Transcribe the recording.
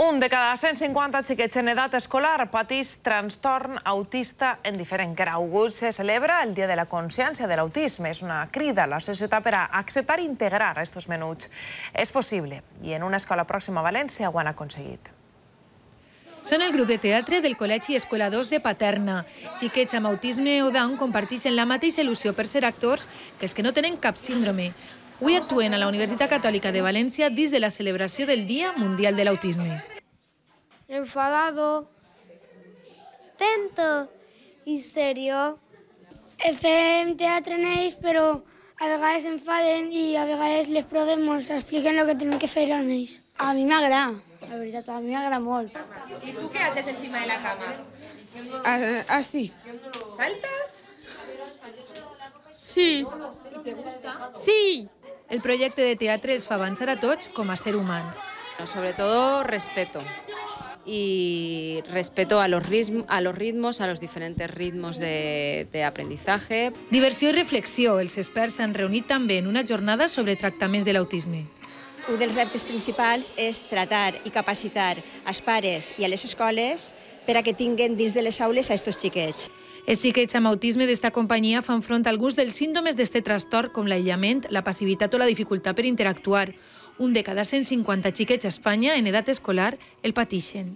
Un de cada 150 xiquets en edat escolar pateix trastorn autista en diferent grau. Avui se celebra el Dia de la Consciència de l'Autisme. És una crida a la societat per a acceptar i integrar aquests menuts. És possible i en una escola pròxima a València ho han aconseguit. Són el grup de teatre del Col·legi Escola 2 de Paterna. Xiquets amb autisme o Down comparteixen la mateixa il·lusió per ser actors que els que no tenen cap síndrome. Avui actuen a la Universitat Catòlica de València dins de la celebració del Dia Mundial de l'Autisme. Enfadado, atento i serio. Fem teatre en ells, però a vegades s'enfaden i a vegades les profes ens expliquen el que tenen que fer en ells. A mi m'agrada, la veritat, a mi m'agrada molt. ¿Y tú qué haces encima de la cama? Así. ¿Saltas? Sí. ¿Y te gusta? Sí. El projecte de teatre els fa avançar a tots com a ser humans. Sobre todo respeto. Y respeto a los ritmos, a los diferentes ritmos de aprendizaje. Diversió i reflexió. Els experts s'han reunit també en una jornada sobre tractaments de l'autisme. Un dels reptes principals és tratar i capacitar als pares i a les escoles per a que tinguin dins de les aules a aquests xiquets. Els xiquets amb autisme d'esta companyia fan front a alguns dels símptomes d'aquest trastorn, com l'aïllament, la passivitat o la dificultat per interactuar. Un de cada 150 xiquets a Espanya en edat escolar el pateixen.